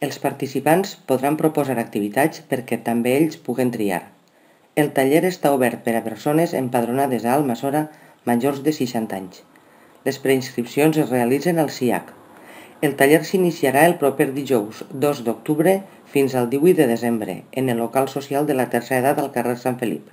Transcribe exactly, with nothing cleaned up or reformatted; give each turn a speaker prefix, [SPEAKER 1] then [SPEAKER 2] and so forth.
[SPEAKER 1] Els participants podran proposar activitats perquè també ells puguen triar. El taller està obert per a persones empadronades a Almassora majors de seixanta anys. Les preinscripcions es realitzen al C I A C. El taller s'iniciarà el proper dijous dos d'octubre fins al divuit de desembre en el local social de la tercera edat al carrer Sant Felip.